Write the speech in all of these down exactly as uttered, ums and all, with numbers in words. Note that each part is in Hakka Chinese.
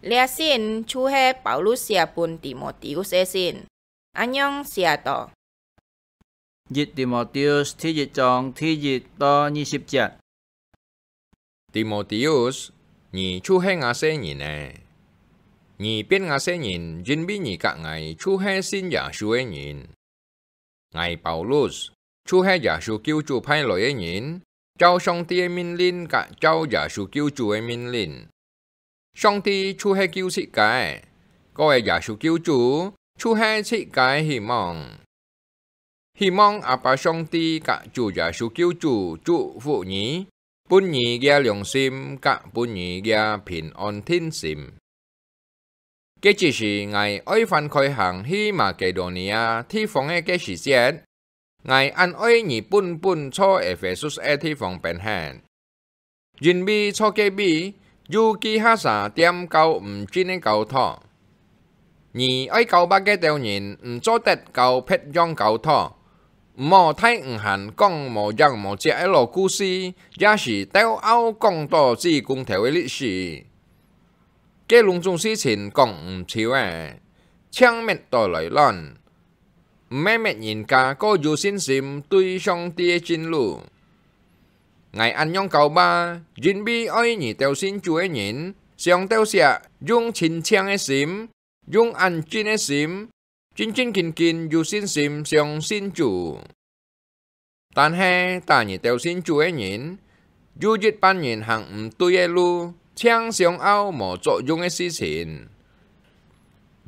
這信就係保羅寫分提摩提烏个信，恁樣寫到：一提摩提烏第一章第一到二十節。提摩提烏，你就係吾細人仔。你變吾細人，因為你佮𠊎就係信耶穌个人。 𠊎保羅，就係耶穌救主派來个人，照上帝个命令佮照耶穌救主个命令。上帝就係救自家个，該个耶穌救主就係自家个希望。希望阿爸上帝佮主耶穌救主祝福你，分你个良心，佮分你个平安定心。 該之時，𠊎愛翻開行去馬其多尼亞地方个該時節，𠊎恁愛你本本在Ephesians个地方變現，因為在該位有幾下儕店教毋真个教導。你愛教導該兜人，毋做得教別樣教導，毋好大毋閒講無影無跡个老故事，也係鬥拗講到至公頭个歷史。 該攏總事情講毋透仔，淨搣到來亂，毋係搣人家過有信心對上帝个正路。𠊎恁樣教吧，因為愛你兜信主个人，像兜石用清淨个心，用恁真个心， 真真經經有信心相信主。但係打你兜信主个人，有一半人行毋對个路，淨想拗無作用个事情。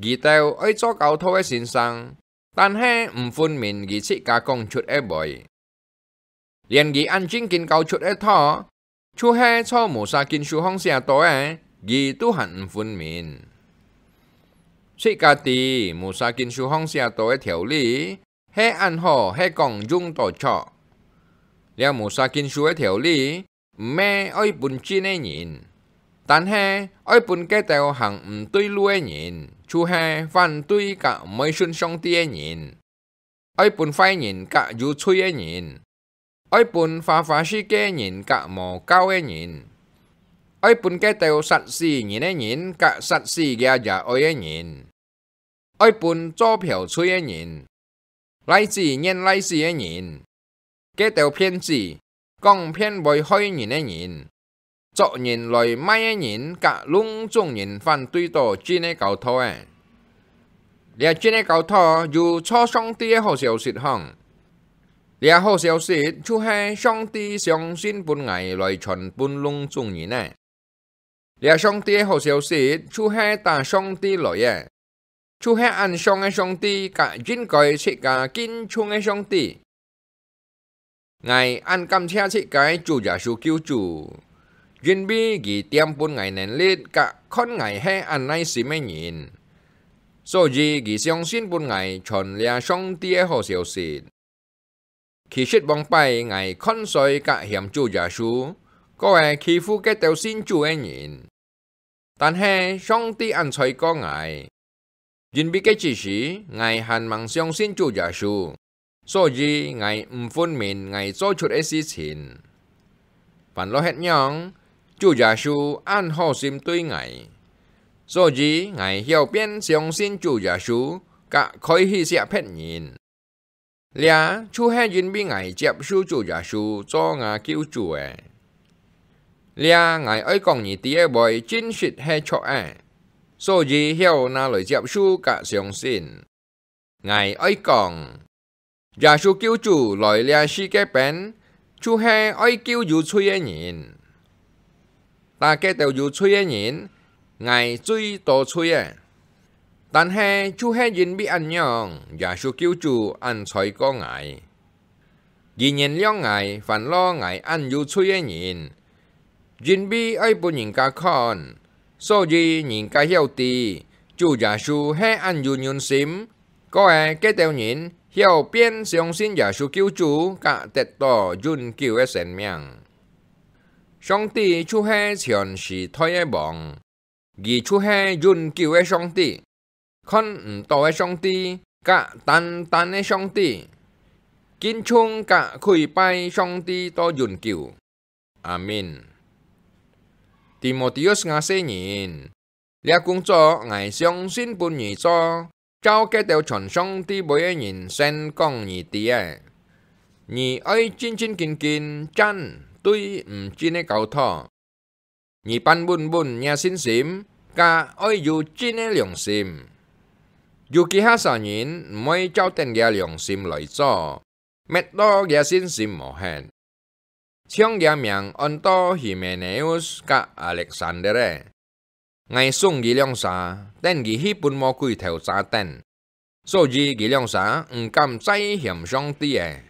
佢兜愛做教導个先生，但係毋分明佢自家講出个話。 連佢恁正經教出个道，就係在Musa經書項寫到个，佢都還毋分明。自家知Musa經書項寫到个條理，係恁好，係講用著著。這Musa經書个條理，毋係愛分真个人，但係愛分該兜行毋對路个人，就係反對佮毋愛信上帝个人。 愛分壞人佮有罪个人，愛分花花世界人佮無教个人，愛分該兜殺死人个人佮殺死厥爺哀个人，愛分做嫖妓个人，倈子願倈子个人，該兜騙子， 講騙會害人个人，捉人來賣个人佮攏總人反對到真个教導仔。這真个教導有在上帝个好消息項。這好消息就係上帝相信分𠊎來傳分攏總人仔。 這上帝个好消息就係打上帝來个，就係恁像个上帝佮應該自家敬重个上帝。𠊎恁感謝自家个主耶穌救主，因為佢恬分𠊎能力佮看𠊎係恁耐心个人，所以佢相信分𠊎傳這上帝个好消息。 其實往擺𠊎看衰佮嫌主耶穌，過會欺負該兜信主个人。但係上帝恁在過𠊎，因為該之時𠊎還吂相信主耶穌，所以𠊎毋分明𠊎做出个事情。煩惱係仰，主耶穌恁好心對𠊎，所以𠊎曉變相信主耶穌，佮開始惜別人。 這就係因為𠊎接受主耶穌做吾救主仔。這𠊎愛講你知个話真實係著个，所以曉拿來接受佮相信。𠊎愛講，耶穌救主來這世界邊，就係愛救有罪个人。 打該兜有罪个人，𠊎最多罪仔。但係就係因為恁樣，耶穌救主恁在過𠊎。佢原諒𠊎，煩惱𠊎恁有罪个人，因為愛分人家看，所以人家曉知，主耶穌係恁有忍心， 過會該兜人曉變相信耶穌救主，佮得到永久个生命。上帝就係全時代个王，佢就係永久个上帝，看毋到个上帝，佮單單个上帝，敬重佮跪拜上帝到永久。阿們。提摩提烏吾細人，這工作𠊎相信分你做，照該兜傳上帝話个人宣講你知个。你愛正正經經站對毋正个交託。你半穩穩若信心，該愛有正个良心。有幾下儕人毋會照等厥良心來做，搣到厥信心無忒。像厥名安到Hymenaeus佮Alexander个，𠊎送佢兩儕，等佢去分魔鬼頭軋等。所以佢兩儕毋敢再嫌上帝个。